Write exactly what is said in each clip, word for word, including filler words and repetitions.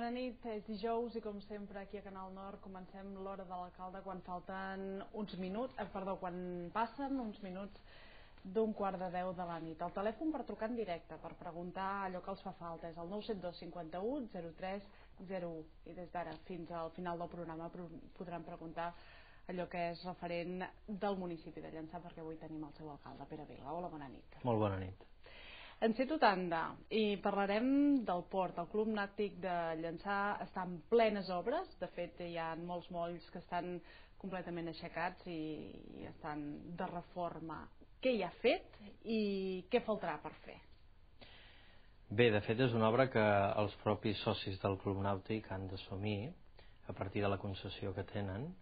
Bona nit, és dijous i com sempre aquí a Canal Nord comencem l'hora de l'alcalde quan falten uns minuts, eh, perdó, quan passen uns minuts d'un quart de deu de la nit. El telèfon per trucar en directe, per preguntar allò que els fa falta, és el nou set dos cinquanta-u zero tres zero u i des d'ara fins al final del programa podran preguntar allò que és referent del municipi de Llançà, perquè avui tenim el seu alcalde, Pere Vila. Hola, bona nit. Molt bona nit. Encito Tanda, i parlarem del port. El Club Nàutic de Llançà està en plenes obres, de fet hi ha molts molls que estan completament aixecats i estan de reforma. Què hi ha fet i què faltarà per fer? Bé, de fet és una obra que els propis socis del Club Nàutic han d'assumir a partir de la concessió que tenen,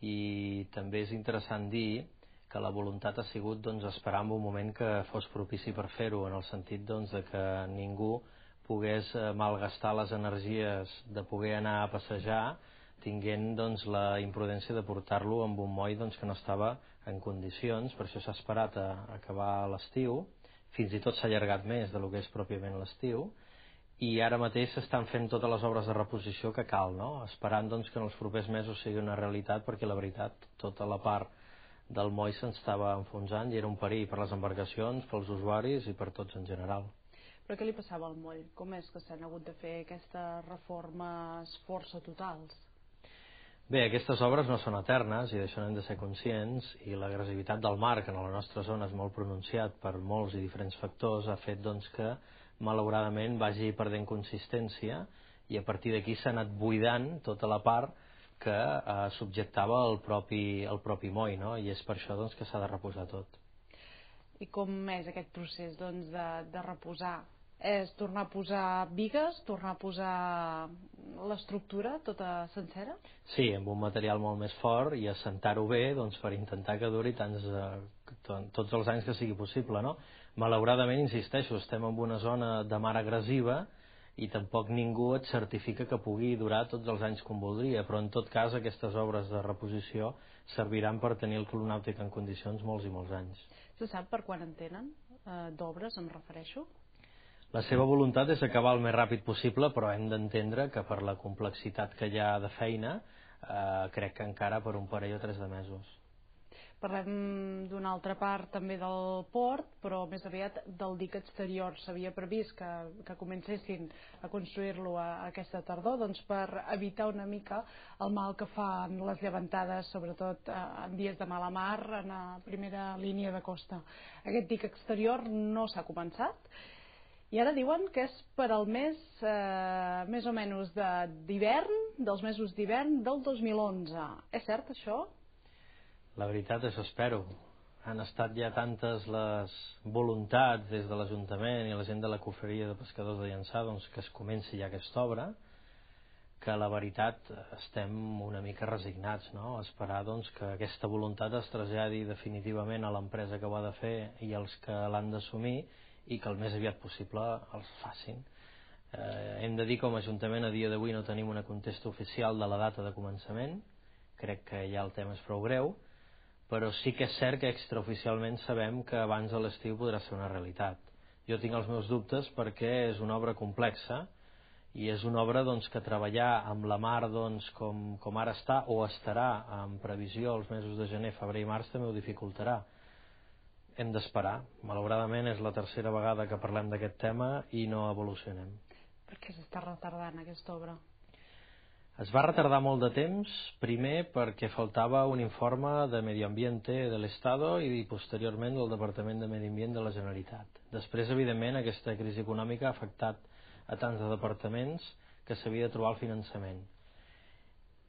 i també és interessant dir que la voluntat ha sigut doncs, esperar en un moment que fos propici per fer-ho, en el sentit doncs, de que ningú pogués malgastar les energies de poder anar a passejar tinguent doncs, la imprudència de portar-lo amb un moll doncs, que no estava en condicions. Per això s'ha esperat a acabar l'estiu, fins i tot s'ha allargat més del que és pròpiament l'estiu, i ara mateix s'estan fent totes les obres de reposició que cal, no? Esperant doncs, que en els propers mesos sigui una realitat, perquè la veritat, tota la part del moll s'estava enfonsant i era un perill per les embarcacions, pels usuaris i per tots en general. Però què li passava al moll? Com és que s'han hagut de fer aquestes reformes força totals? Bé, aquestes obres no són eternes i d'això n'hem de ser conscients, i l'agressivitat del mar, que en la nostra zona és molt pronunciat per molts i diferents factors, ha fet doncs, que malauradament vagi perdent consistència, i a partir d'aquí s'ha anat buidant tota la part que eh, subjectava el propi, el propi moll, no? I és per això doncs, que s'ha de reposar tot. I com és aquest procés doncs, de, de reposar? És tornar a posar bigues, tornar a posar l'estructura tota sencera? Sí, amb un material molt més fort i assentar-ho bé doncs, per intentar que duri tants, eh, tots els anys que sigui possible, no? Malauradament, insisteixo, estem en una zona de mar agressiva i tampoc ningú et certifica que pugui durar tots els anys com voldria, però en tot cas aquestes obres de reposició serviran per tenir el Club Nàutic en condicions molts i molts anys. Se sap per quan en tenen eh, d'obres, em refereixo? La seva voluntat és acabar el més ràpid possible, però hem d'entendre que per la complexitat que hi ha de feina eh, crec que encara per un parell o tres de mesos. Parlem d'una altra part també del port, però més aviat del dic exterior. S'havia previst que, que comencessin a construir-lo a, a aquesta tardor, doncs per evitar una mica el mal que fan les llevantades, sobretot eh, en dies de mala mar, en la primera línia de costa. Aquest dic exterior no s'ha començat, i ara diuen que és per al mes eh, més o menys d'hivern, dels mesos d'hivern del dos mil onze. És cert això? La veritat és, espero. Han estat ja tantes les voluntats des de l'Ajuntament i la gent de la Cofreria de Pescadors de Llançà doncs, que es comenci ja aquesta obra, que la veritat estem una mica resignats, no? A esperar doncs, que aquesta voluntat es traslladi definitivament a l'empresa que ho ha de fer i els que l'han d'assumir, i que el més aviat possible els facin. Eh, hem de dir que com a Ajuntament a dia d'avui no tenim una contesta oficial de la data de començament, crec que ja el tema és prou greu, però sí que és cert que extraoficialment sabem que abans de l'estiu podrà ser una realitat. Jo tinc els meus dubtes perquè és una obra complexa i és una obra doncs, que treballar amb la mar doncs, com, com ara està o estarà en previsió els mesos de gener, febrer i març també ho dificultarà. Hem d'esperar. Malauradament és la tercera vegada que parlem d'aquest tema i no evolucionem. Per què s'està retardant aquesta obra? Es va retardar molt de temps, primer perquè faltava un informe de Medi Ambiente de l'Estado i posteriorment del Departament de Medi Ambient de la Generalitat. Després, evidentment, aquesta crisi econòmica ha afectat a tants de departaments que s'havia de trobar el finançament.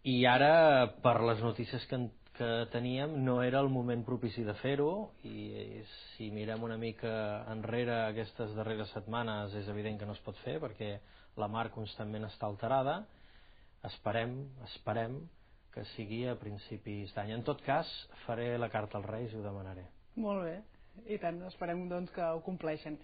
I ara, per les notícies que, que teníem, no era el moment propici de fer-ho, i si mirem una mica enrere aquestes darreres setmanes és evident que no es pot fer perquè la mar constantment està alterada. Esperem, esperem que sigui a principis d'any. En tot cas, faré la carta als Reis i ho demanaré. Molt bé, i tant, esperem doncs que ho compleixen.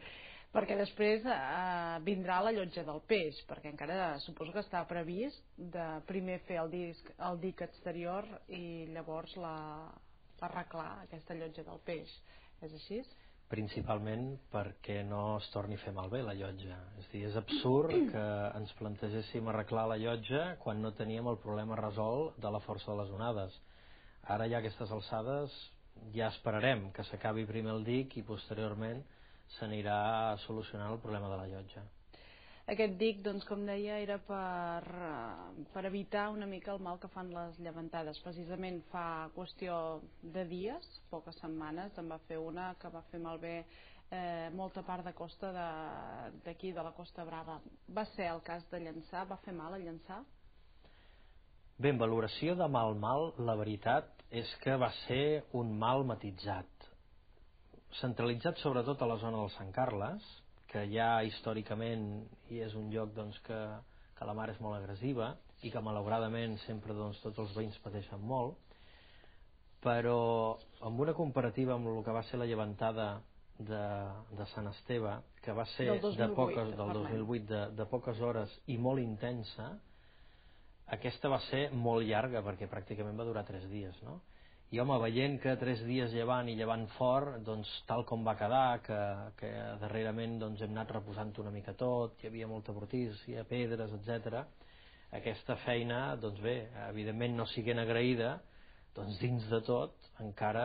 Perquè després eh, vindrà la llotja del peix, perquè encara suposo que està previst de primer fer el, disc, el dic exterior i llavors la, arreglar aquesta llotja del peix. És així? principalment perquè no es torni a fer malbé la llotja. És a dir, és absurd que ens plantegéssim arreglar la llotja quan no teníem el problema resolt de la força de les onades. Ara ja a aquestes alçades ja esperarem que s'acabi primer el dic i posteriorment s'anirà solucionant el problema de la llotja. Aquest dic, doncs, com deia, era per, per evitar una mica el mal que fan les llevantades. Precisament fa qüestió de dies, poques setmanes, en va fer una que va fer malbé eh, molta part de costa d'aquí, de, de la Costa Brava. Va ser el cas de Llançà? Va fer mal a Llançà? Bé, en valoració de mal-mal, la veritat és que va ser un mal matitzat. Centralitzat sobretot a la zona del Sant Carles, que ja històricament hi és un lloc doncs, que, que la mar és molt agressiva i que malauradament sempre doncs, tots els veïns pateixen molt, però amb una comparativa amb el que va ser la llevantada de, de Sant Esteve, que va ser del dos mil vuit, de poques, del dos mil vuit de, de poques hores i molt intensa, aquesta va ser molt llarga perquè pràcticament va durar tres dies, no? I home, veient que tres dies llevant i llevant fort, doncs tal com va quedar, que, que darrerament doncs, hem anat reposant una mica tot, hi havia molta brutícia, pedres, etcètera. Aquesta feina, doncs bé, evidentment no siguent agraïda, doncs dins de tot encara,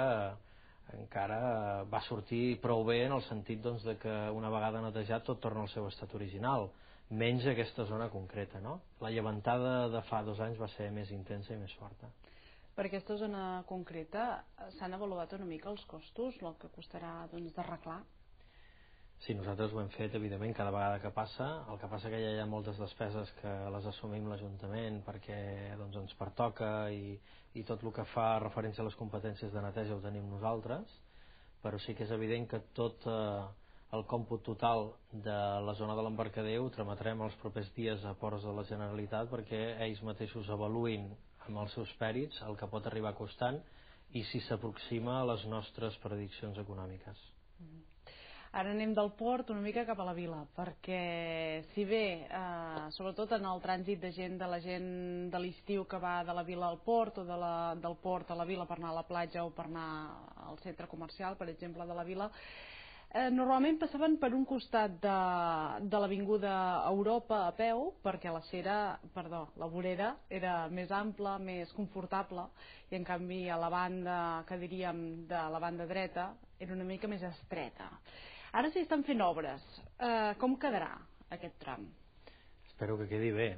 encara va sortir prou bé en el sentit doncs, de que una vegada netejat tot torna al seu estat original, menys aquesta zona concreta, no? La llevantada de fa dos anys va ser més intensa i més forta. Per aquesta zona concreta s'han avaluat una mica els costos, el que costarà doncs, d'arreglar? Sí, nosaltres ho hem fet, evidentment, cada vegada que passa. El que passa que ja hi ha moltes despeses que les assumim l'Ajuntament perquè doncs, ens pertoca i, i tot el que fa referència a les competències de neteja ho tenim nosaltres, però sí que és evident que tot eh, el còmput total de la zona de l'Embarcadero ho trametrem els propers dies a Ports de la Generalitat perquè ells mateixos avaluïn amb els seus pèrits el que pot arribar costant i si s'aproxima a les nostres prediccions econòmiques. Ara anem del port una mica cap a la vila, perquè si bé, eh, sobretot en el trànsit de gent, de la gent de l'estiu que va de la vila al port o de la, del port a la vila per anar a la platja o per anar al centre comercial, per exemple, de la vila, Eh, normalment passaven per un costat de, de l'avinguda Europa a peu, perquè la cera, perdó, la vorera era més ampla, més confortable, i en canvi a la banda, que diríem de la banda dreta, era una mica més estreta. Ara s'hi estan fent obres. Eh, com quedarà aquest tram? Espero que quedi bé.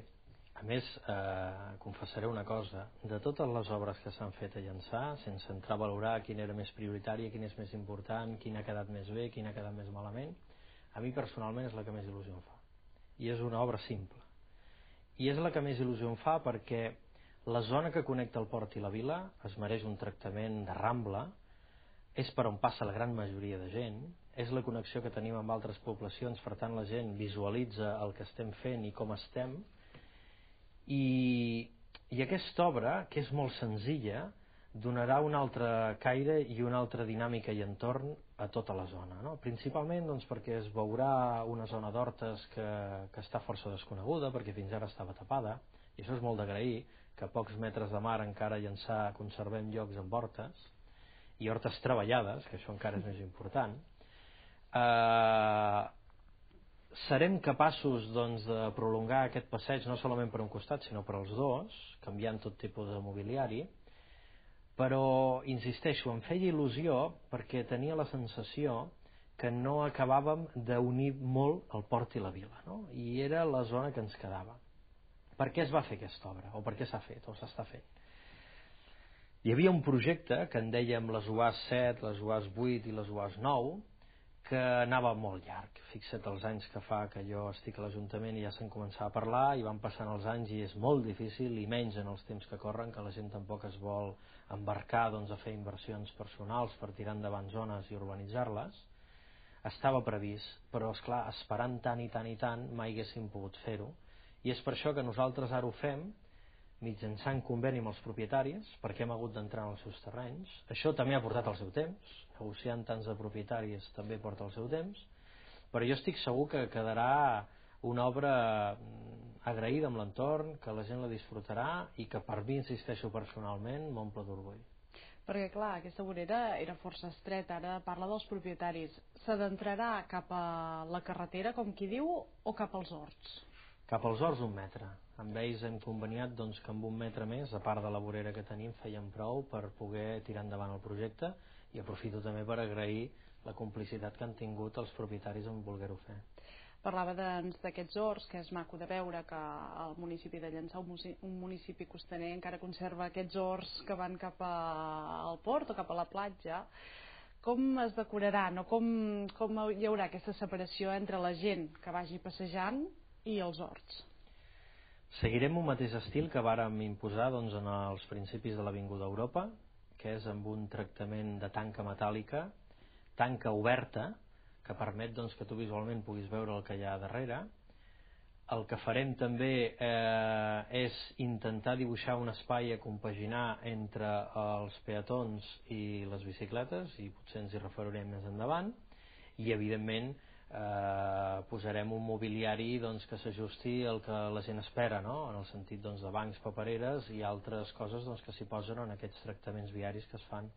A més, eh, confessaré una cosa, de totes les obres que s'han fet a Llançà, sense entrar a valorar quina era més prioritària, quina és més important, quina ha quedat més bé, quina ha quedat més malament, a mi personalment és la que més il·lusió em fa. I és una obra simple. I és la que més il·lusió em fa perquè la zona que connecta el port i la vila es mereix un tractament de rambla, és per on passa la gran majoria de gent, és la connexió que tenim amb altres poblacions, per tant la gent visualitza el que estem fent i com estem. I, i aquesta obra, que és molt senzilla, donarà un altre caire i una altra dinàmica i entorn a tota la zona, no? Principalment doncs, perquè es veurà una zona d'hortes que, que està força desconeguda, perquè fins ara estava tapada, i això és molt d'agrair, que a pocs metres de mar encara a Llançà conservem llocs amb hortes, i hortes treballades, que això encara és més important. Eh... Serem capaços doncs, de prolongar aquest passeig no solament per un costat sinó per als dos, canviant tot tipus de mobiliari, però insisteixo, em feia il·lusió perquè tenia la sensació que no acabàvem d'unir molt el port i la vila, no? I era la zona que ens quedava. Per què es va fer aquesta obra? O per què s'ha fet? O s'està fent? Hi havia un projecte que en dèiem les U A S set, les U A S vuit i les U A S nou, que anava molt llarg. Fixa't els anys que fa que jo estic a l'Ajuntament i ja se'n començava a parlar i van passant els anys i és molt difícil, i menys en els temps que corren, que la gent tampoc es vol embarcar doncs, a fer inversions personals per tirar endavant zones i urbanitzar-les. Estava previst, però esclar, esperant tant i tant i tant mai haguéssim pogut fer-ho, i és per això que nosaltres ara ho fem mitjançant conveni amb els propietaris, perquè hem hagut d'entrar en els seus terrenys. Això també ha portat el seu temps, negociar amb tants de propietaris també porta el seu temps, però jo estic segur que quedarà una obra agraïda amb l'entorn, que la gent la disfrutarà i que per mi, insisteixo personalment, m'omple d'orgull. Perquè, clar, aquesta vorera era força estreta, ara parla dels propietaris. S'adentrarà cap a la carretera, com qui diu, o cap als horts? Cap als horts un metre. Amb ells hem conveniat doncs, que amb un metre més, a part de la vorera que tenim, fèiem prou per poder tirar endavant el projecte, i aprofito també per agrair la complicitat que han tingut els propietaris en voler-ho fer. Parlava doncs, d'aquests horts, que és maco de veure que el municipi de Llançà, un municipi costaner, encara conserva aquests horts que van cap al port o cap a la platja. Com es decoraran o com, com hi haurà aquesta separació entre la gent que vagi passejant i els horts? Seguirem un mateix estil que vàrem imposar doncs, en els principis de l'Avinguda Europa, que és amb un tractament de tanca metàl·lica, tanca oberta, que permet doncs, que tu visualment puguis veure el que hi ha darrere. El que farem també eh, és intentar dibuixar un espai a compaginar entre els peatons i les bicicletes, i potser ens hi referirem més endavant, i evidentment eh, posarem un mobiliari doncs, que s'ajusti al que la gent espera, no? En el sentit doncs, de bancs, papereres i altres coses doncs, que s'hi posen en aquests tractaments viaris que es fan.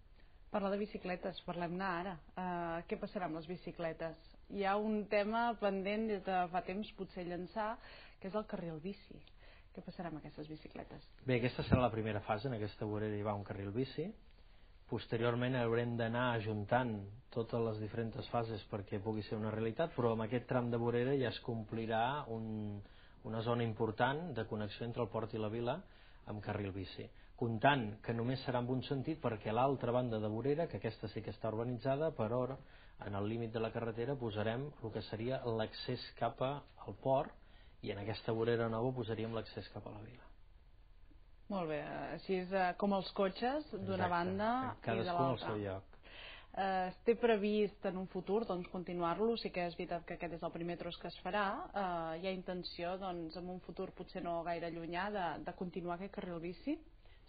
Parlar de bicicletes, parlem-ne ara. Uh, què passarà amb les bicicletes? Hi ha un tema pendent des de fa temps, potser Llançà, que és el carril bici. Què passarà amb aquestes bicicletes? Bé, aquesta serà la primera fase, en aquesta vorera hi va un carril bici. Posteriorment haurem d'anar ajuntant totes les diferents fases perquè pugui ser una realitat, però amb aquest tram de vorera ja es complirà un, una zona important de connexió entre el port i la vila amb carril bici, comptant que només serà en un sentit perquè a l'altra banda de vorera, que aquesta sí que està urbanitzada, per hora, en el límit de la carretera posarem el que seria l'accés cap al port, i en aquesta vorera nova posaríem l'accés cap a la vila. Molt bé, així és com els cotxes d'una banda i de l'altra. Cadascú al seu lloc. Eh, té previst en un futur doncs, continuar-lo, sí que és veritat que aquest és el primer tros que es farà, eh, hi ha intenció doncs, en un futur potser no gaire llunyà de, de continuar aquest carril bici?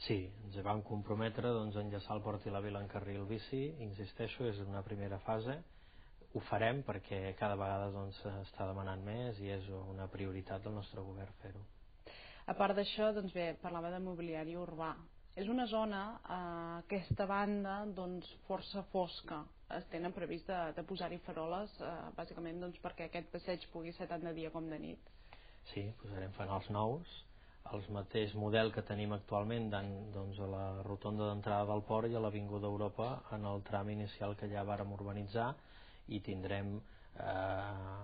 Sí, ens vam comprometre doncs, a enllaçar el port i la vila en carril bici, insisteixo, és una primera fase, ho farem perquè cada vegada doncs, està demanant més i és una prioritat del nostre govern fer-ho. A part d'això, doncs bé, parlava de mobiliari urbà. És una zona, eh, aquesta banda, doncs, força fosca. Es tenen previst de, de posar-hi faroles, eh, bàsicament doncs, perquè aquest passeig pugui ser tant de dia com de nit. Sí, posarem fanals nous, el mateix model que tenim actualment doncs, a la rotonda d'entrada del port i a l'Avinguda Europa en el tram inicial que ja vàrem urbanitzar, i tindrem eh,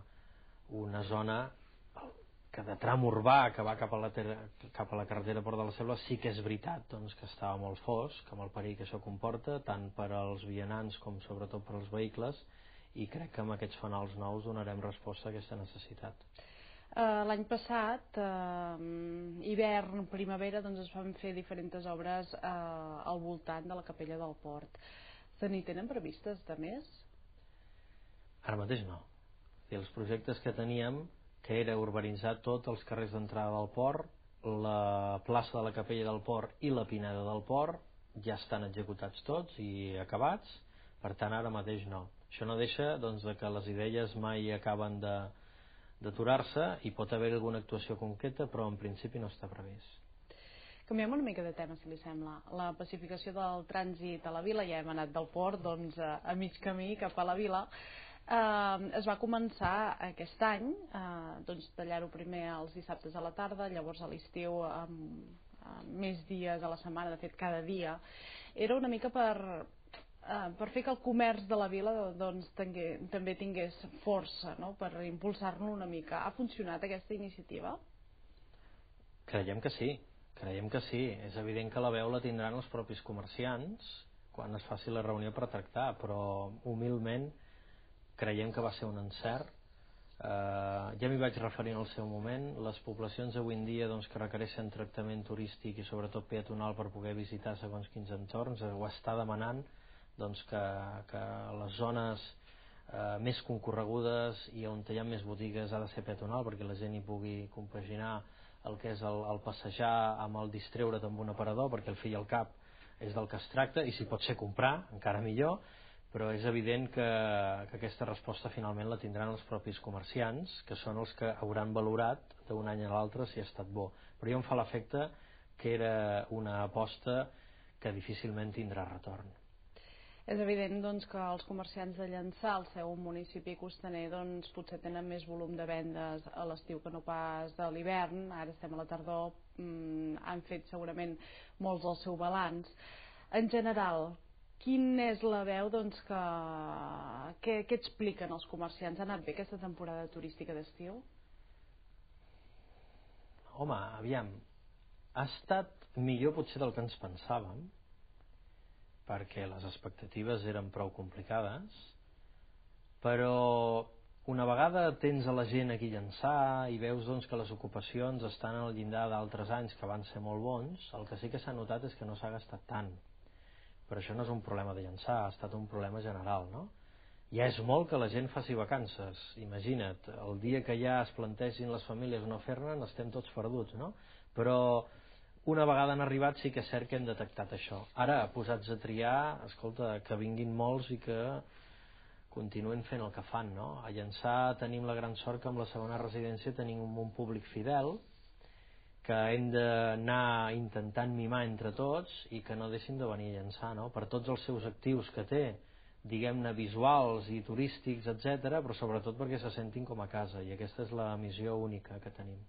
una zona que de tram urbà que va cap a la, ter cap a la carretera Port de la Selva sí que és veritat doncs, que estava molt fosc, amb el perill que això comporta, tant per als vianants com sobretot per als vehicles, i crec que amb aquests fanals nous donarem resposta a aquesta necessitat. Uh, L'any passat, uh, hivern, primavera, doncs es van fer diferents obres uh, al voltant de la capella del port. Se n'hi tenen previstes de més? Ara mateix no. I els projectes que teníem, que era urbanitzar tots els carrers d'entrada del port, la plaça de la capella del port i la pineda del port, ja estan executats tots i acabats, per tant ara mateix no. Això no deixa doncs, que les idees mai acaben de d'aturar-se i pot haver alguna actuació concreta, però en principi no està previst. Canviem una mica de tema, si li sembla. La pacificació del trànsit a la vila, ja hem anat del port doncs, a mig camí cap a la vila. Eh, es va començar aquest any, eh, doncs, tallar-ho primer els dissabtes a la tarda, llavors a l'estiu amb, amb més dies a la setmana, de fet cada dia. Era una mica per... Uh, per fer que el comerç de la vila doncs, tingué, també tingués força, no? Per impulsar-lo una mica. Ha funcionat aquesta iniciativa? Creiem que sí, creiem que sí. És evident que la veu la tindran els propis comerciants quan es faci la reunió per tractar, però humilment creiem que va ser un encert. Uh, ja m'hi vaig referir en el seu moment. Les poblacions avui en dia doncs, que requereixen tractament turístic i sobretot peatonal per poder visitar segons quins entorns ho està demanant doncs que, que les zones eh, més concorregudes i on hi ha més botigues ha de ser peatonal perquè la gent hi pugui compaginar el que és el, el passejar amb el distreure't amb un aparador, perquè al fi i al cap és del que es tracta, i si pot ser comprar encara millor, però és evident que, que aquesta resposta finalment la tindran els propis comerciants, que són els que hauran valorat d'un any a l'altre si ha estat bo. Però jo em fa l'efecte que era una aposta que difícilment tindrà retorn. És evident doncs, que els comerciants de Llançà, al seu municipi costaner, doncs, potser tenen més volum de vendes a l'estiu que no pas de l'hivern. Ara estem a la tardor, mmm, han fet segurament molts del seu balanç. En general, quina és la veu doncs, que... Què, què expliquen els comerciants? Ha anat bé aquesta temporada turística d'estiu? Home, aviam, ha estat millor potser del que ens pensàvem, perquè les expectatives eren prou complicades, però una vegada tens a la gent aquí a Llançà i veus doncs, que les ocupacions estan al llindar d'altres anys que van ser molt bons, el que sí que s'ha notat és que no s'ha gastat tant. Però això no és un problema de Llançà, ha estat un problema general, no? Ja és molt que la gent faci vacances, imagina't, el dia que ja es plantegin les famílies no fer-ne, estem tots perduts, no? Però una vegada han arribat sí que és cert que hem detectat això. Ara, posats a triar, escolta, que vinguin molts i que continuen fent el que fan, no? A Llançà tenim la gran sort que amb la segona residència tenim un públic fidel que hem d'anar intentant mimar entre tots i que no deixin de venir a Llançà, no? Per tots els seus actius que té, diguem-ne visuals i turístics, etcètera, però sobretot perquè se sentin com a casa, i aquesta és la missió única que tenim.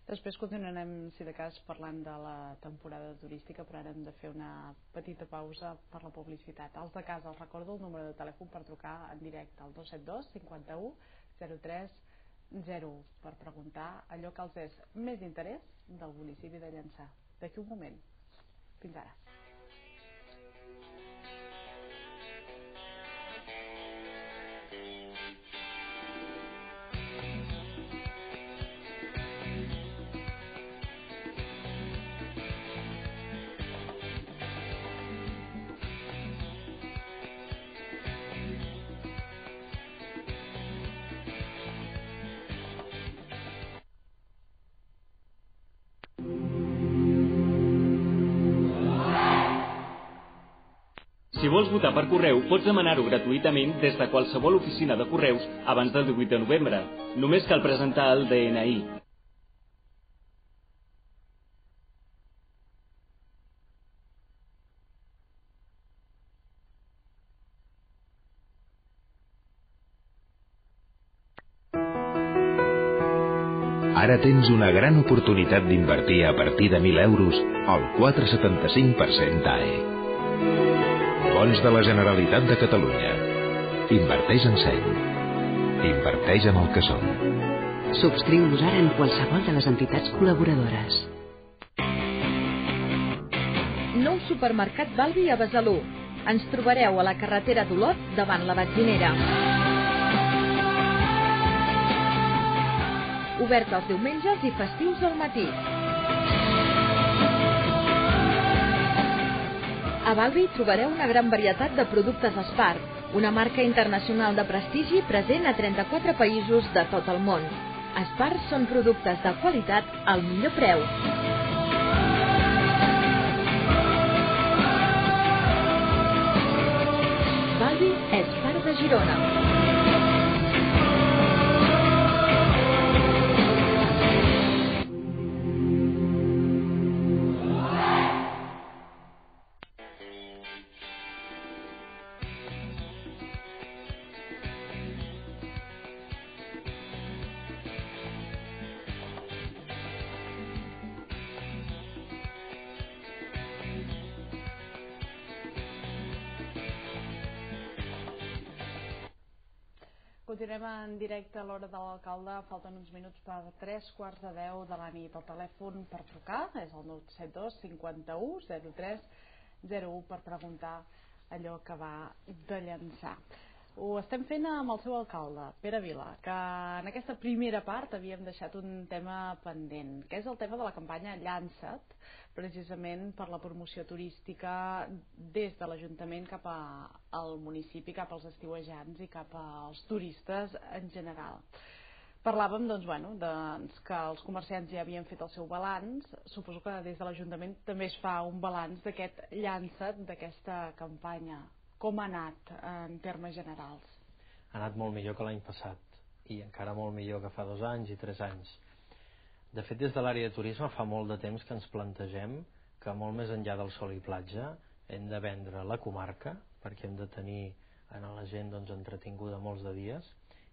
Després continuarem, si de cas, parlant de la temporada turística, però ara hem de fer una petita pausa per la publicitat. Els de casa, els recordo el número de telèfon per trucar en directe al dos set dos cinquanta u zero tres zero u per preguntar allò que els és més d'interès del municipi de Llançà. D'aquí un moment. Fins ara. Si vols votar per correu, pots demanar-ho gratuïtament des de qualsevol oficina de correus abans del divuit de novembre. Només cal presentar el D N I. Ara tens una gran oportunitat d'invertir a partir de mil euros al quatre coma setanta-cinc per cent A E. Bons de la Generalitat de Catalunya. Inverteix en seny. Inverteix en el que som. Subscriu-nos ara en qualsevol de les entitats col·laboradores. Nou supermercat Balbi a Besalú. Ens trobareu a la carretera d'Olot davant la benzinera. Obert els diumenges i festius al matí. A Balbi trobareu una gran varietat de productes Espar, una marca internacional de prestigi present a trenta-quatre països de tot el món. Espar són productes de qualitat al millor preu. Balbi és part de Girona. Continuem en directe a l'hora de l'alcalde. Falten uns minuts per tres quarts de deu de la nit. El telèfon per trucar és el nou set dos cinquanta u zero tres zero u per preguntar allò que va de Llançà. Ho estem fent amb el seu alcalde, Pere Vila, que en aquesta primera part havíem deixat un tema pendent, que és el tema de la campanya Llança't, precisament per la promoció turística des de l'Ajuntament cap al municipi, cap als estiuejants i cap als turistes en general. Parlàvem doncs, bueno, doncs, que els comerciants ja havien fet el seu balanç. Suposo que des de l'Ajuntament també es fa un balanç d'aquest Llança't, d'aquesta campanya. Com ha anat en termes generals? Ha anat molt millor que l'any passat i encara molt millor que fa dos anys i tres anys. De fet, des de l'àrea de turisme fa molt de temps que ens plantegem que molt més enllà del sol i platja hem de vendre la comarca, perquè hem de tenir a la gent doncs, entretinguda molts de dies,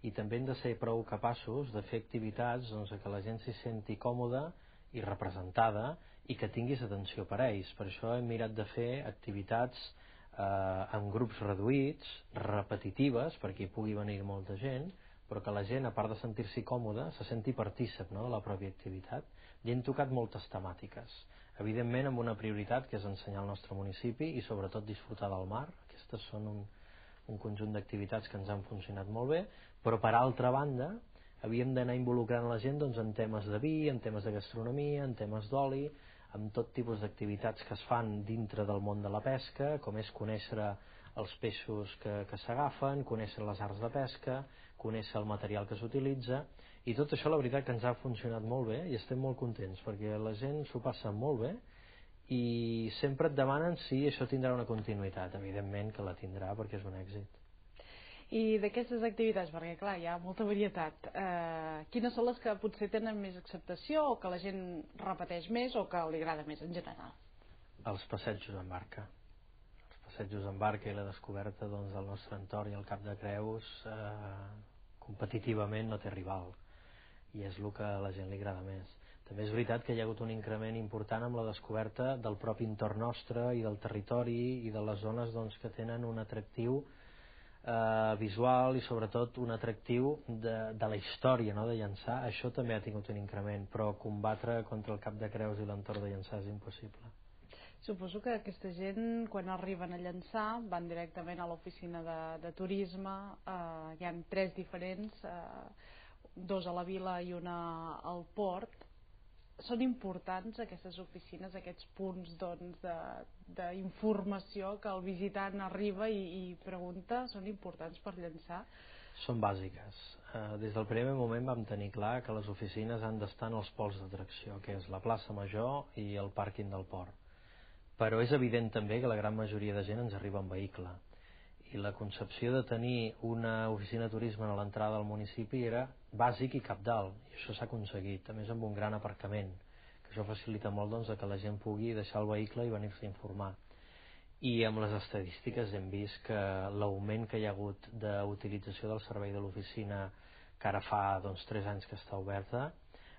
i també hem de ser prou capaços de fer activitats doncs, que la gent s'hi senti còmoda i representada i que tinguis atenció per a ells. Per això hem mirat de fer activitats eh, en grups reduïts, repetitives, perquè hi pugui venir molta gent, però que la gent, a part de sentir-s'hi còmoda, se senti partícip, no?, de la pròpia activitat. I hem tocat moltes temàtiques, evidentment amb una prioritat que és ensenyar el nostre municipi i sobretot disfrutar del mar. Aquestes són un, un conjunt d'activitats que ens han funcionat molt bé, però per altra banda havíem d'anar involucrant la gent doncs, en temes de vi, en temes de gastronomia, en temes d'oli, amb tot tipus d'activitats que es fan dintre del món de la pesca, com és conèixer els peixos que, que s'agafen, conèixer les arts de pesca, conèixer el material que s'utilitza, i tot això la veritat que ens ha funcionat molt bé i estem molt contents perquè la gent s'ho passa molt bé i sempre et demanen si això tindrà una continuïtat. Evidentment que la tindrà perquè és un èxit. I d'aquestes activitats, perquè clar, hi ha molta varietat, eh, quines són les que potser tenen més acceptació o que la gent repeteix més o que li agrada més en general? Els passejos en barca. Els passejos en barca i la descoberta doncs, del nostre entorn i el Cap de Creus eh, competitivament no té rival i és el que a la gent li agrada més. També és veritat que hi ha hagut un increment important amb la descoberta del propi entorn nostre i del territori i de les zones doncs, que tenen un atractiu eh, visual i sobretot un atractiu de, de la història, no?, de Llançà. Això també ha tingut un increment, però combatre contra el Cap de Creus i l'entorn de Llançà és impossible. Suposo que aquesta gent, quan arriben a Llançà, van directament a l'oficina de, de turisme, eh, hi ha tres diferents, eh, dos a la vila i una al port. Són importants aquestes oficines, aquests punts doncs, d'informació que el visitant arriba i, i pregunta, són importants per Llançà? Són bàsiques. Eh, des del primer moment vam tenir clar que les oficines han d'estar en els pols d'atracció, que és la plaça Major i el pàrquing del port. Però és evident també que la gran majoria de gent ens arriba en vehicle. I la concepció de tenir una oficina de turisme a l'entrada del municipi era bàsic i cabdal, i això s'ha aconseguit, a més amb un gran aparcament, que això facilita molt doncs, que la gent pugui deixar el vehicle i venir-se a informar. I amb les estadístiques hem vist que l'augment que hi ha hagut d'utilització del servei de l'oficina, que ara fa doncs, tres anys que està oberta,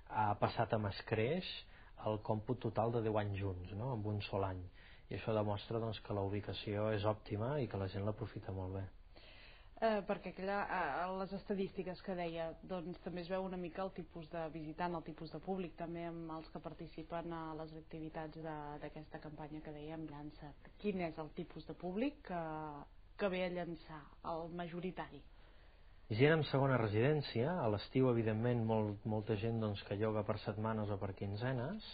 ha passat amb escreix el còmput total de deu anys junts, no?, en un sol any. I això demostra doncs, que la ubicació és òptima i que la gent l'aprofita molt bé. Eh, perquè clar, a les estadístiques que deia doncs, també es veu una mica el tipus de visitant, el tipus de públic també amb els que participen a les activitats d'aquesta campanya que dèiem Llança. Quin és el tipus de públic que, que ve a Llançà, el majoritari? Gent amb segona residència, a l'estiu evidentment molt, molta gent doncs, que lloga per setmanes o per quinzenes,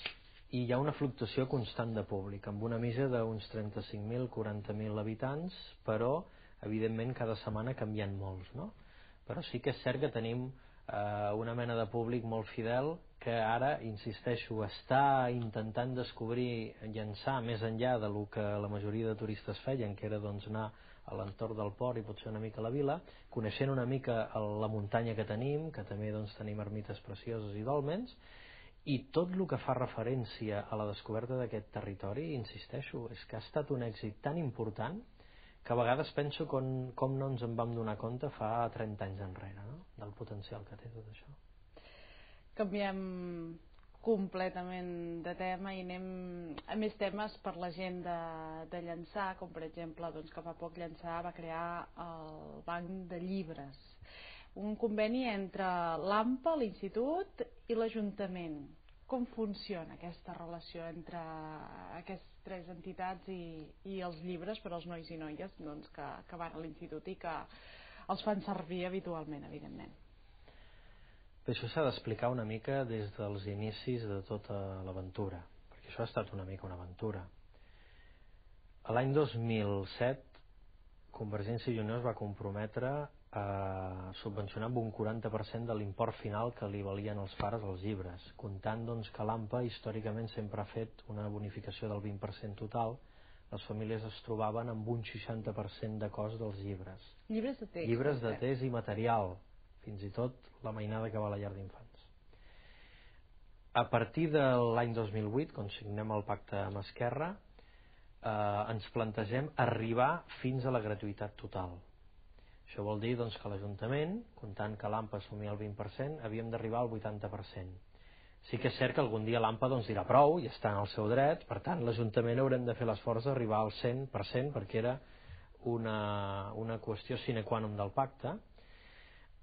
i hi ha una fluctuació constant de públic, amb una mitja d'uns trenta-cinc mil a quaranta mil habitants, però evidentment cada setmana canvien molts, no? Però sí que és cert que tenim eh, una mena de públic molt fidel que ara, insisteixo, està intentant descobrir Llançà més enllà de lo que la majoria de turistes feien, que era doncs, anar a l'entorn del port i potser una mica a la vila, coneixent una mica la muntanya que tenim, que també doncs, tenim ermites precioses i dòlmens, i tot el que fa referència a la descoberta d'aquest territori, insisteixo, és que ha estat un èxit tan important que a vegades penso com, com no ens en vam donar compte fa trenta anys enrere, no?, del potencial que té tot això. Canviem completament de tema i anem a més temes per la gent de, de Llançà, com per exemple doncs, que fa poc Llançà va crear el Banc de Llibres, un conveni entre l'AMPA, l'Institut i l'Ajuntament. Com funciona aquesta relació entre aquestes tres entitats i, i els llibres per als nois i noies doncs, que, que van a l'Institut i que els fan servir habitualment, evidentment? Bé, això s'ha d'explicar una mica des dels inicis de tota l'aventura, perquè això ha estat una mica una aventura. L'any dos mil set, Convergència i Unió es va comprometre a subvencionar amb un quaranta per cent de l'import final que li valien els pares als llibres, comptant doncs, que l'AMPA històricament sempre ha fet una bonificació del vint per cent total. Les famílies es trobaven amb un seixanta per cent de cost dels llibres. Llibres de text. Llibres de text i material, fins i tot la mainada que va a la llar d'infants. A partir de l'any dos mil vuit, quan signem el pacte amb Esquerra, eh, ens plantegem arribar fins a la gratuïtat total. Això vol dir doncs, que l'Ajuntament, comptant que l'A M P A assumia el vint per cent, havíem d'arribar al vuitanta per cent. Sí que és cert que algun dia l'A M P A doncs, dirà prou i està en el seu dret, per tant l'Ajuntament haurem de fer l'esforç d'arribar al cent per cent perquè era una, una qüestió sine qua non del pacte.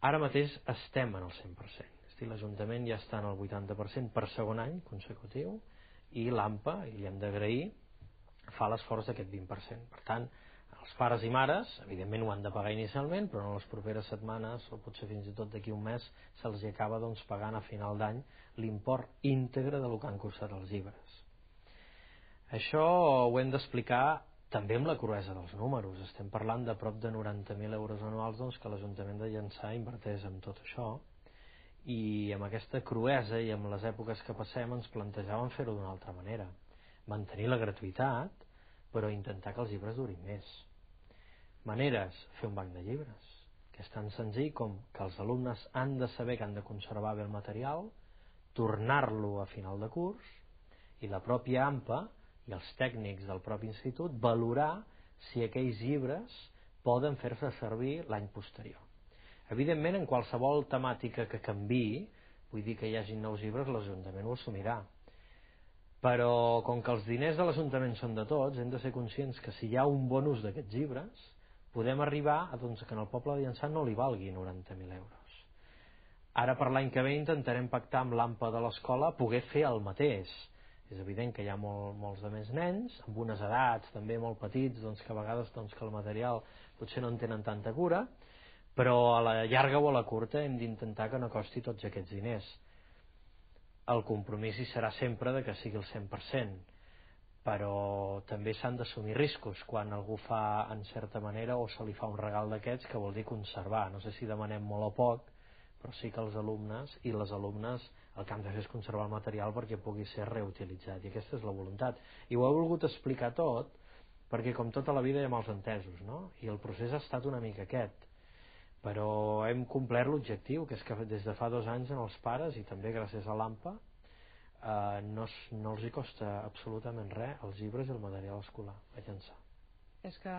Ara mateix estem en el cent per cent, és a dir, l'Ajuntament ja està en el vuitanta per cent per segon any consecutiu i l'A M P A, i li hem d'agrair, fa l'esforç d'aquest vint per cent. Per tant, els pares i mares, evidentment ho han de pagar inicialment, però en les properes setmanes, o potser fins i tot d'aquí un mes, se'ls acaba doncs, pagant a final d'any l'import íntegre del que han costat els llibres. Això ho hem d'explicar també amb la cruesa dels números. Estem parlant de prop de noranta mil euros anuals doncs, que l'Ajuntament de Llançà inverteix en tot això, i amb aquesta cruesa i amb les èpoques que passem ens plantejàvem fer-ho d'una altra manera, mantenir la gratuïtat, però intentar que els llibres durin més. Maneres, fer un banc de llibres, que és tan senzill com que els alumnes han de saber que han de conservar bé el material, tornar-lo a final de curs, i la pròpia A M P A i els tècnics del propi institut valorar si aquells llibres poden fer-se servir l'any posterior. Evidentment, en qualsevol temàtica que canviï, vull dir que hi hagi nous llibres, l'Ajuntament ho assumirà. Però com que els diners de l'Ajuntament són de tots, hem de ser conscients que si hi ha un bon ús d'aquests llibres, podem arribar a doncs, que en el poble de Llançà no li valgui noranta mil euros. Ara per l'any que ve intentarem pactar amb l'A M P A de l'escola poder fer el mateix. És evident que hi ha molt, molts de més nens, amb unes edats també molt petits, doncs, que a vegades doncs, que el material potser no en tenen tanta cura, però a la llarga o a la curta hem d'intentar que no costi tots aquests diners. El compromís hi serà sempre de que sigui el cent per cent, però també s'han d'assumir riscos quan algú fa en certa manera o se li fa un regal d'aquests, que vol dir conservar. No sé si demanem molt o poc, però sí que els alumnes i les alumnes el que han de fer és conservar el material perquè pugui ser reutilitzat, i aquesta és la voluntat. I ho he volgut explicar tot perquè com tota la vida hi ha mals entesos, no? I el procés ha estat una mica aquest, però hem complert l'objectiu, que és que des de fa dos anys en els pares, i també gràcies a l'A M P A, eh, no, no els hi costa absolutament res els llibres i el material escolar a Llançà. És que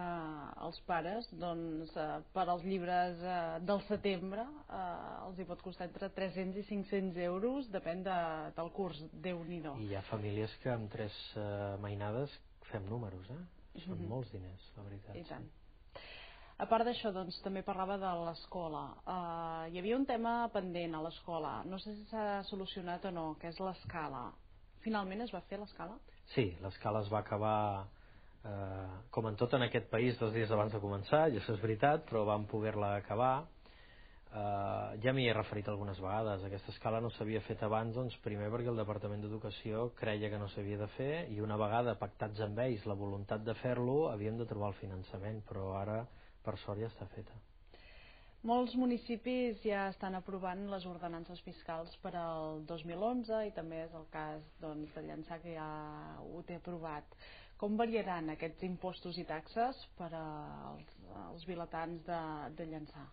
els pares, doncs, eh, per als llibres eh, del setembre eh, els hi pot costar entre tres-cents i cinc-cents euros, depèn de, del curs, Déu-n'hi-do. I hi ha famílies que amb tres eh, mainades fem números, eh? Són mm-hmm. molts diners, la veritat. I tant. Sí. A part d'això, doncs, també parlava de l'escola. Uh, hi havia un tema pendent a l'escola, no sé si s'ha solucionat o no, que és l'escala. Finalment es va fer l'escala? Sí, l'escala es va acabar, eh, com en tot en aquest país, dos dies abans de començar, i això és veritat, però vam poder-la acabar. Eh, ja m'hi he referit algunes vegades. Aquesta escala no s'havia fet abans, doncs, primer perquè el Departament d'Educació creia que no s'havia de fer, i una vegada pactats amb ells la voluntat de fer-lo, havíem de trobar el finançament, però ara per sort ja està feta. Molts municipis ja estan aprovant les ordenances fiscals per al dos mil onze i també és el cas doncs, de Llançà, que ja ho té aprovat. Com variaran aquests impostos i taxes per als, als vilatans de, de Llançà?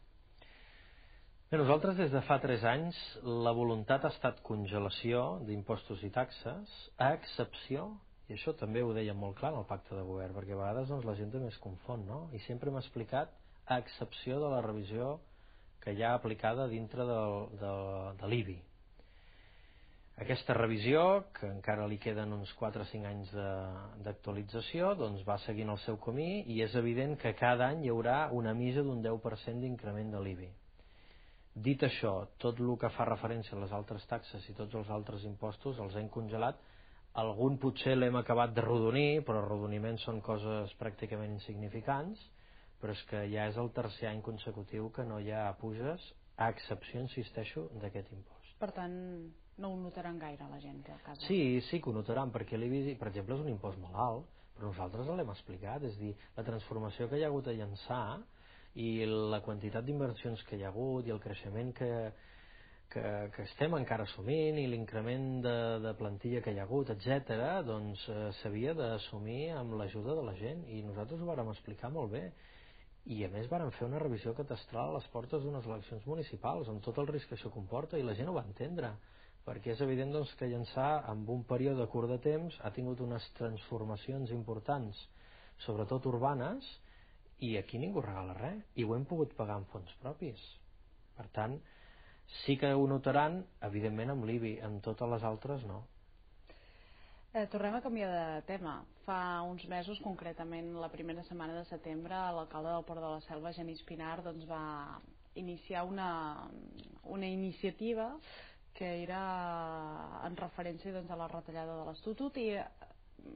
Bé, nosaltres des de fa tres anys la voluntat ha estat congelació d'impostos i taxes, a excepció, i això també ho deia molt clar en el pacte de govern, perquè a vegades doncs, la gent també es confon, no? I sempre m'ha explicat, a excepció de la revisió que hi ha aplicada dintre del, de, de l'I B I. Aquesta revisió, que encara li queden uns quatre o cinc anys d'actualització, doncs va seguint el seu camí, i és evident que cada any hi haurà una mitja d'un deu per cent d'increment de l'I B I. Dit això, tot el que fa referència a les altres taxes i tots els altres impostos els hem congelat. Algun potser l'hem acabat de rodonir, però arrodoniments són coses pràcticament insignificants, però és que ja és el tercer any consecutiu que no hi ha puges, a excepció, insisteixo, d'aquest impost. Per tant, no ho notaran gaire la gent a casa? Sí, sí que ho notaran, perquè l'I B I, per exemple, és un impost molt alt, però nosaltres l'hem explicat, és a dir, la transformació que hi ha hagut a Llançà i la quantitat d'inversions que hi ha hagut i el creixement que... Que, que estem encara assumint, i l'increment de, de plantilla que hi ha hagut, etcètera, doncs eh, s'havia d'assumir amb l'ajuda de la gent, i nosaltres ho vàrem explicar molt bé, i a més vàrem fer una revisió catastral a les portes d'unes eleccions municipals amb tot el risc que això comporta, i la gent ho va entendre, perquè és evident doncs, que Llançà, en un període curt de temps, ha tingut unes transformacions importants, sobretot urbanes, i aquí ningú regala res, i ho hem pogut pagar amb fons propis. Per tant, sí que ho notaran, evidentment, amb l'I B I, amb totes les altres no. Eh, tornem a canviar de tema. Fa uns mesos, concretament la primera setmana de setembre, l'alcalde del Port de la Selva, Genís Pinar, doncs, va iniciar una, una iniciativa que era en referència doncs, a la retallada de l'Estatut i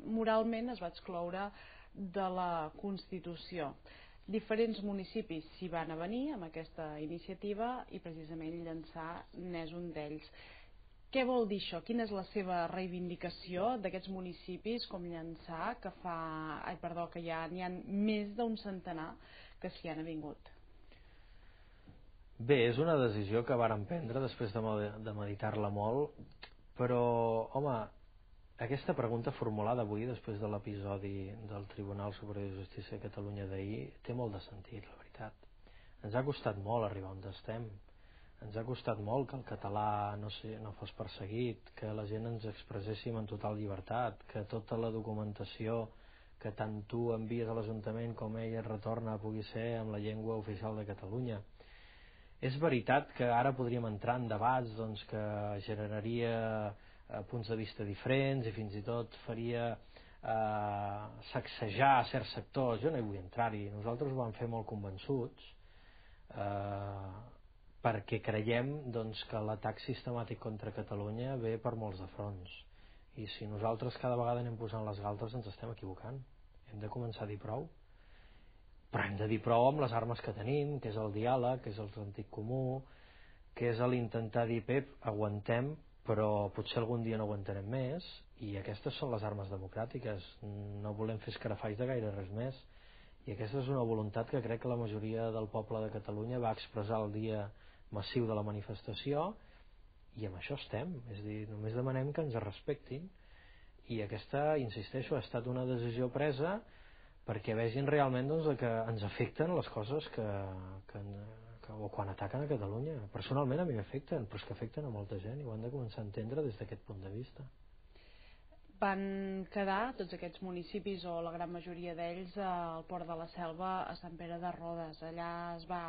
moralment es va excloure de la Constitució. Diferents municipis s'hi van avenir amb aquesta iniciativa i precisament Llançà n'és un d'ells. Què vol dir això? Quina és la seva reivindicació d'aquests municipis com Llançà, que fa, ai, perdó, que ja n'hi ha més d'un centenar que s'hi han avingut? Bé, és una decisió que vàrem prendre després de meditar-la molt, però, home, aquesta pregunta formulada avui, després de l'episodi del Tribunal Superior de Justícia de Catalunya d'ahir, té molt de sentit, la veritat. Ens ha costat molt arribar on estem. Ens ha costat molt que el català no, sé, no fos perseguit, que la gent ens expresséssim en total llibertat, que tota la documentació que tant tu envies a l'Ajuntament com ell et retorna pugui ser amb la llengua oficial de Catalunya. És veritat que ara podríem entrar en debats doncs, que generaria eh, punts de vista diferents i fins i tot faria eh, sacsejar certs sectors. Jo no hi vull entrar-hi. Nosaltres ho vam fer molt convençuts eh, perquè creiem doncs, que l'atac sistemàtic contra Catalunya ve per molts de fronts. I si nosaltres cada vegada anem posant les galtes ens estem equivocant. Hem de començar a dir prou. Però hem de dir prou amb les armes que tenim, que és el diàleg, que és el sentit comú, que és l'intentar dir, Pep, aguantem, però potser algun dia no aguantarem més, i aquestes són les armes democràtiques. No volem fer escarafalls de gaire res més. I aquesta és una voluntat que crec que la majoria del poble de Catalunya va expressar el dia massiu de la manifestació, i amb això estem. És a dir, només demanem que ens respectin, i aquesta, insisteixo, ha estat una decisió presa perquè vegin realment doncs, que ens afecten les coses que, que, que o quan ataquen a Catalunya. Personalment a mi m'afecten, però és que afecten a molta gent i ho han de començar a entendre des d'aquest punt de vista. Van quedar tots aquests municipis o la gran majoria d'ells al Port de la Selva a Sant Pere de Rodes. Allà es va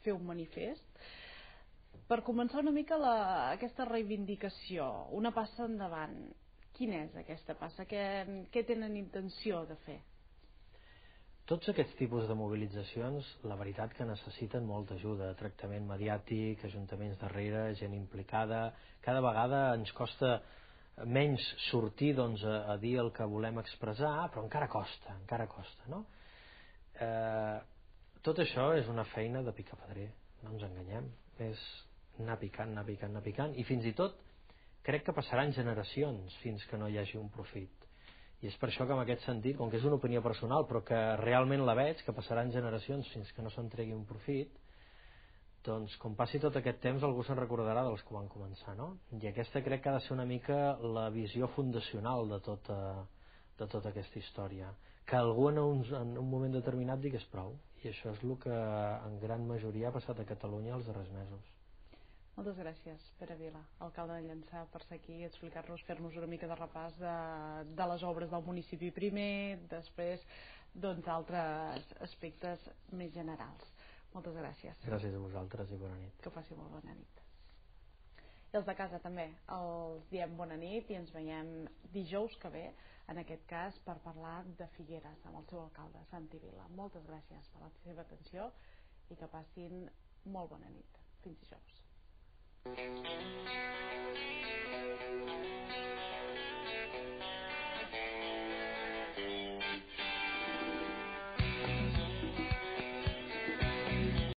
fer un manifest per començar una mica la, aquesta reivindicació, una passa endavant. Quina és aquesta passa? Què, què tenen intenció de fer? Tots aquests tipus de mobilitzacions, la veritat que necessiten molta ajuda, tractament mediàtic, ajuntaments darrere, gent implicada. Cada vegada ens costa menys sortir doncs, a, a dir el que volem expressar, però encara costa, encara costa, no? Eh, tot això és una feina de picapedrer, no ens enganyem. És anar picant, anar picant, anar picant, i fins i tot crec que passaran generacions fins que no hi hagi un profit. I és per això que en aquest sentit, com que és una opinió personal però que realment la veig, que passaran generacions fins que no se'n tregui un profit, doncs com passi tot aquest temps algú se'n recordarà dels que van començar, no? I aquesta crec que ha de ser una mica la visió fundacional de tota, de tota aquesta història, que algú en un, en un moment determinat digués prou, i això és el que en gran majoria ha passat a Catalunya els darrers mesos. Moltes gràcies, Pere Vila, alcalde de Llançà, per ser aquí i explicar-nos, fer-nos una mica de repàs de, de les obres del municipi primer, després doncs altres aspectes més generals. Moltes gràcies. Gràcies a vosaltres i bona nit. Que passi molt bona nit. I els de casa també, els diem bona nit i ens veiem dijous que ve, en aquest cas per parlar de Figueres amb el seu alcalde, Santi Vila. Moltes gràcies per la seva atenció i que passin molt bona nit. Fins dijous. Thank you.